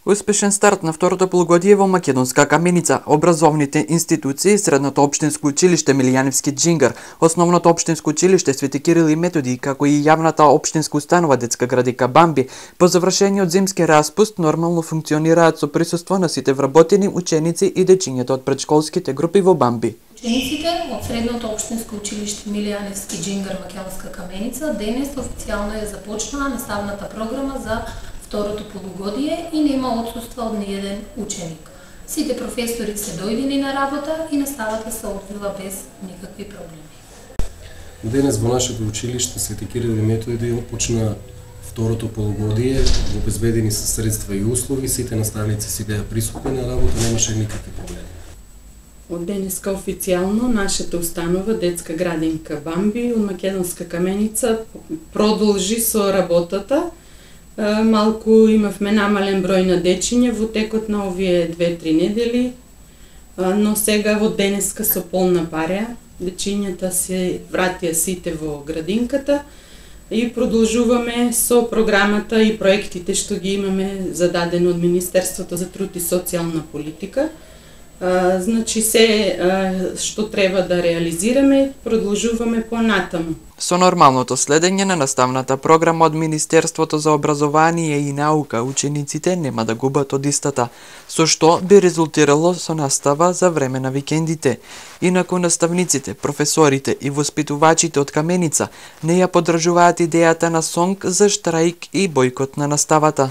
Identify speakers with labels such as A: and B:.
A: Успешен старт на второто полугодие во Македонска Каменица. Образовните институции, Средното општинско училиште Милијаневски Џингар, Основното општинско училиште Свети Кирил и Методи, како и јавната општинска установа Детска градинка Бамби, по завршениот зимски распуст нормално функционираат со присуство на сите вработени ученици и дечињата од претшколските групи во Бамби.
B: Учениците од Средното општинско училиште Милијаневски Џингар Македонска Каменица денес официјално ја започнаа наставната програма за второто полугодие и нема отсуство од ниеден ученик. Сите професори се дојдени на работа и наставата се одвила без никакви проблеми.
C: Денес во нашето училиште Свети Кирил и Методи почна второто полугодие, обезбедени се средства и услови, сите наставници си беа присутни на работа, немаше никакви проблеми.
D: Од денеска официјално нашата установа Детска градинка Бамби од Македонска Каменица продолжи со работата. Малку имавме намален број на дечиња во текот на овие 2-3 недели, но сега во денеска со полна пареа, дечињата се вратија сите во градинката и продолжуваме со програмата и проектите што ги имаме зададено од Министерството за труд и социјална политика. Значи се што треба да реализираме, продолжуваме понатаму.
A: Со нормалното следење на наставната програма од Министерството за образование и наука, учениците нема да губат од истата, со што би резултирало со настава за време на викендите. Инаку наставниците, професорите и воспитувачите од Каменица не ја поддржуваат идејата на сонг за штраик и бојкот на наставата.